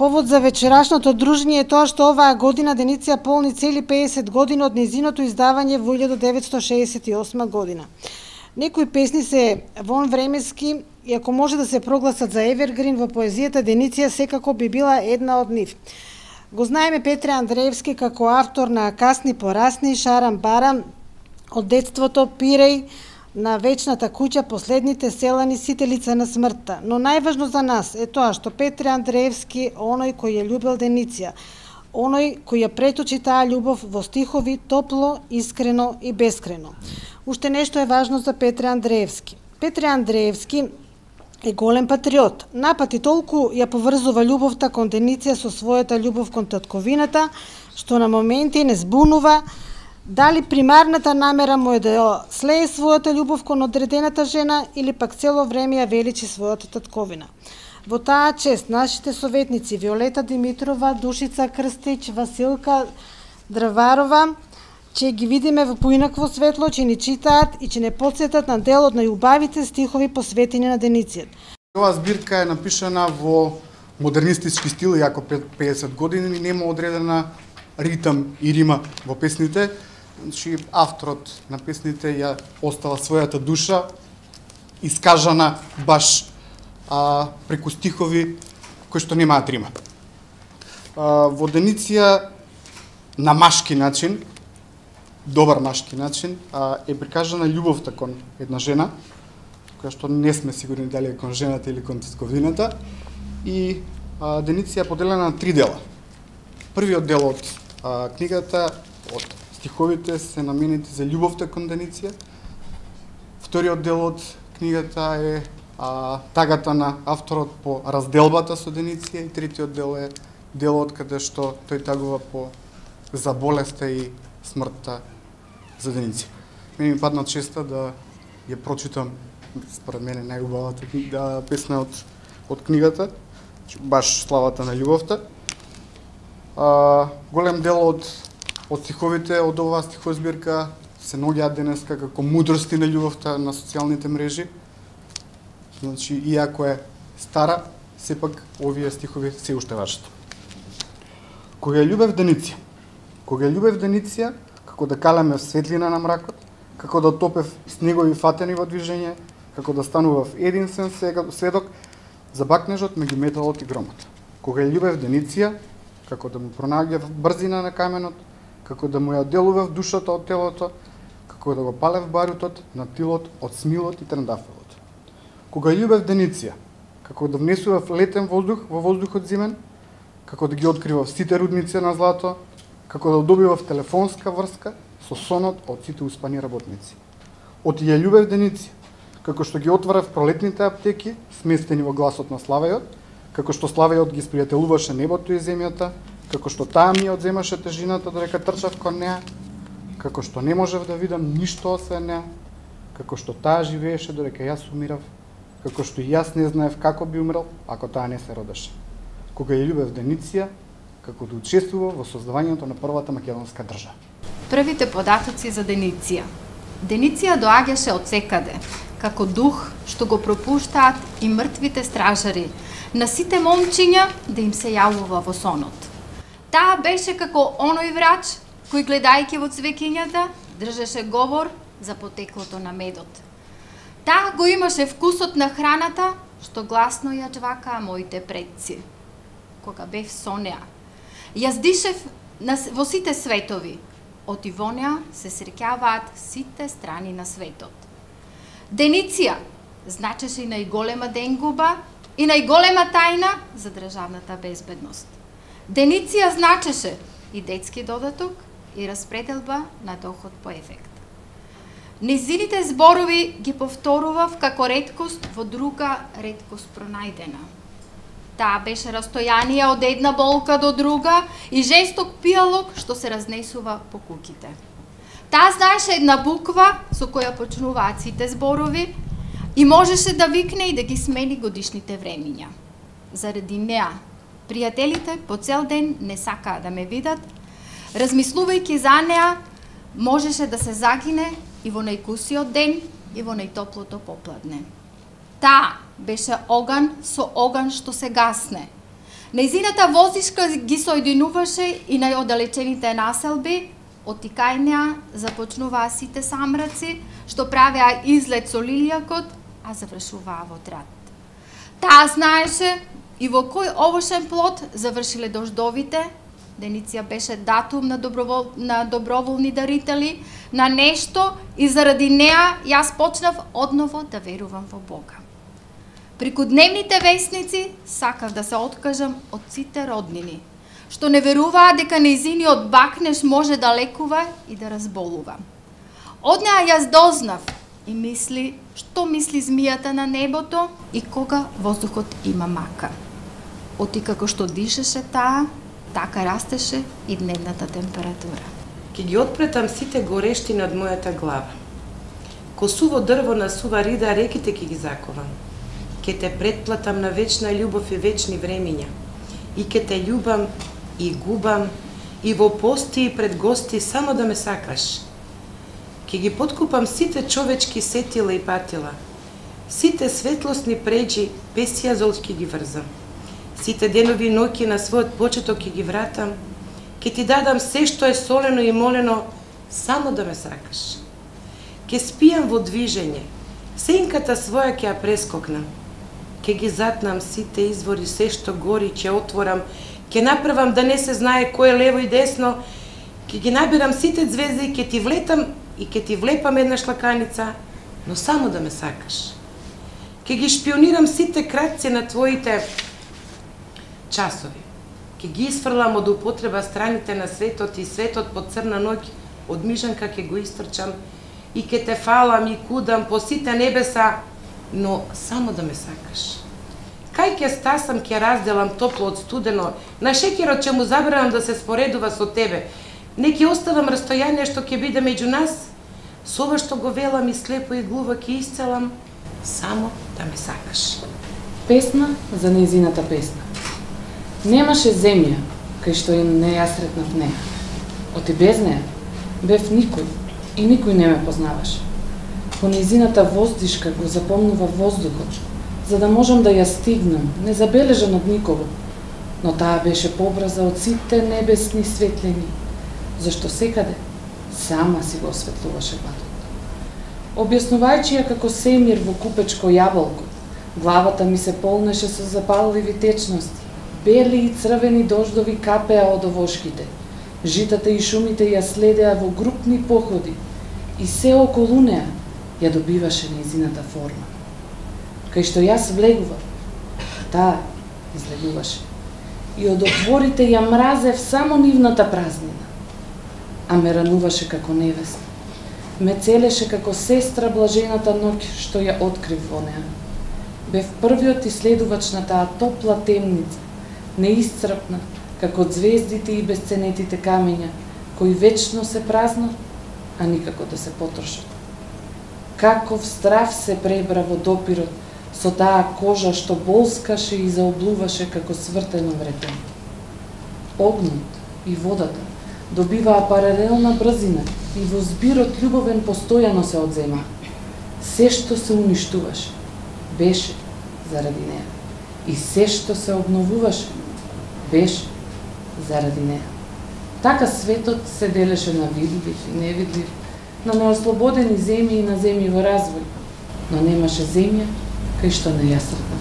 Повод за вечерашното дружење е тоа што оваа година Деница полни цели 50 години од незиното издавање во 1968 година. Некои песни се вонвремески и ако може да се прогласат за евергрин во поезијата, Деница секако би била една од нив. Го знаеме Петре Андреевски како автор на Касни порасни, Шарам барам, од детството, Пиреј, на вечната куќа, последните селани, Сителица на смртта. Но најважно за нас е тоа што Петре Андреевски, оној кој ја љубел Деница, оној кој ја преточи таа љубов во стихови топло, искрено и бескрено. Уште нешто е важно за Петре Андреевски. Петре Андреевски е голем патриот. Напати толку ја поврзува љубовта кон Деница со својата љубов кон татковината, што на моменти не збунува дали примарната намера му е да слее својата љубов кон одредената жена или пак цело време ја величи својата татковина. Во таа чест нашите советници Виолета Димитрова, Душица Крстич, Василка Драварова ќе ги видиме во поинакво светло, че ни читаат и че не потсетат на дел од најубавите стихови посветени на Деница. Оваа збирка е напишана во модернистички стил, иако пред 50 години нема одредена ритам и рима во песните. Значи, авторот на песните ја остава својата душа, искажана баш преку стихови кои што немаат рима. Во Деница на машки начин, добар машки начин, е прикажана љубовта кон една жена, која што не сме сигурни дали е кон жената или кон татковината, и Деница е поделена на 3 дела. Првиот дел од книгата, од стиховите се наменети за љубовта кон Деница. Вториот дел од книгата е тагата на авторот по разделбата со Деница и третиот дел е делот каде што тој тагува за болеста и смртта за Деница. Мене ми падна честа да ја прочитам, според мене најубавата песна од книгата, баш славата на љубовта. Голем дел од стиховите од оваа стихозбирка се наоѓаат денеска како мудрости на љубовта на социјалните мрежи. Значи, иако е стара, сепак овие стихови се уште важат. Кога ја љубев Деница, како да калеме светлина на мракот, како да топев снегови фатени во движење, како да станував единствен сведок за бакнежот меѓу металот и громот. Кога ја љубев Деница, како да му пронаѓав брзина на каменот, како да му ја делував душата од телото, како да го палев барутот на тилот од смилот и трендафелот. Кога љубев Деница, како да внесував летен воздух во воздухот зимен, како да ги откривав сите рудници на злато, како да добивав телефонска врска со сонот од сите успани работници. Оти ја љубев Деница, како што ги отварав пролетните аптеки, сместени во гласот на Славејот, како што Славејот ги спријателуваше небото и земјата, како што таа ми одземаше тежината додека трчав кон неа, како што не можев да видам ништо освен неа, како што таа живееше додека јас умирав, како што и јас не знаев како би умрел ако таа не се родеше. Кога ја љубев Деница, како да учествува во создавањето на првата македонска држава. Првите податоци за Деница. Деница доаѓаше од секаде, како дух што го пропуштаат и мртвите стражари, на сите момчиња да им се јавува во сонот. Таа беше како оној врач кој гледајќи во цвеќињата држеше говор за потеклото на медот. Таа го имаше вкусот на храната што гласно ја џвакаа моите предци. Кога бев со неа, јас дишев во сите светови, од во неа се среќаваат сите страни на светот. Деница значеше и најголема денгуба и најголема тајна за државната безбедност. Деница значеше и детски додаток и распределба на доход по ефект. Незините зборови ги повторував како реткост во друга реткост пронајдена. Таа беше растојанија од една болка до друга и жесток пијалок што се разнесува по куќите. Таа знаеше една буква со која почнуваат сите зборови и можеше да викне и да ги смени годишните времиња. Заради неа, пријателите по цел ден не сакаа да ме видат, размислувајќи за неа, можеше да се загине и во најкусиот ден и во најтоплото попладне. Таа беше оган со оган што се гасне. Нејзината воздишка ги соединуваше и најоддалечените населби, од Тикајнеа започнуваа сите самраци, што правеа излет со лилјакот, а завршуваа во Трат. Таа знаеше и во кој овошен плод завршиле дождовите. Деница беше датум на доброволни дарители, на нешто, и заради неа јас почнав одново да верувам во Бога. Преку дневните весници сакав да се откажам од сите роднини, што не веруваа дека нејзиниот бакнеш може да лекува и да разболува. Од неа јас дознав и мисли што мисли змијата на небото и кога воздухот има мака. Оти како што дишеше таа, така растеше и дневната температура. Ке ги отпретам сите горештини од мојата глава. Ко суво дрво на сува рида реките ке ги заковам. Ке те претплатам на вечна љубов и вечни времиња. И ке те љубам и губам и во пости и пред гости само да ме сакаш. Ке ги подкупам сите човечки сетила и патила. Сите светлосни преđи без јазол ке ги врзам. Сите денови и ноќи на својот почеток ќе ги вратам, ќе ти дадам се што е солено и молено, само да ме сакаш. Ќе спијам во движење, сенката своја ќе ја прескокнам. Ќе ги затнам сите извори, се што гори ќе отворам, ќе направам да не се знае кој е лево и десно, ќе ги набирам сите звезди, ќе ти влетам и ќе ти влепам една шлаканица, но само да ме сакаш. Ќе ги шпионирам сите краци на твоите часови. Ке ги исфрлам од употреба страните на светот и светот по црна ноќ, од мижанка ке го истрчам и ке те фалам и кудам по сите небеса, но само да ме сакаш. Кај ке стасам, ке разделам топло од студено, на шеќерот ќе му забранам да се споредува со тебе. Не ке оставам растојание што ќе биде меѓу нас, со ова што го велам и слепо и глуво ке исцелам, само да ме сакаш. Песна за нејзината песна. Немаше земја, кај што не ја сретнав неа. Оти без неа бев никој и никој не ме познаваше. По нејзината воздишка го запомнува воздухот, за да можам да ја стигнам, незабележан од никого. Но таа беше побрза од сите небесни светлини, зашто секаде сама си го осветлуваше патот. Објаснувајќи ја како семир во купечко јаболко, главата ми се полнеше со запалливи течности. Бели и црвени дождови капеа од овошките. Житата и шумите ја следеа во групни походи и се околу неа ја добиваше нејзината форма. Кај што јас влегував, таа излегуваше. И од отворите ја мразев само нивната празнина. А ме рануваше како невеста. Ме целеше како сестра блажената ноќ што ја открив во неа. Бев првиот иследувач на таа топла темница, неисцрпна, како звездите и безценетите камења, кои вечно се празнат, а никако да се потрошат. Каков страв се пребра во допирот со таа кожа што болскаше и заоблуваше како свртено вретење. Огнот и водата добиваа паралелна брзина и во збирот љубовен постојано се одзема. Се што се уништуваше, беше заради неа. И се што се обновуваше, беше заради неа. Така светот се делеше на видлив и невидлив, на неослободени земји и на земји во развој, но немаше земја кај што не ја српа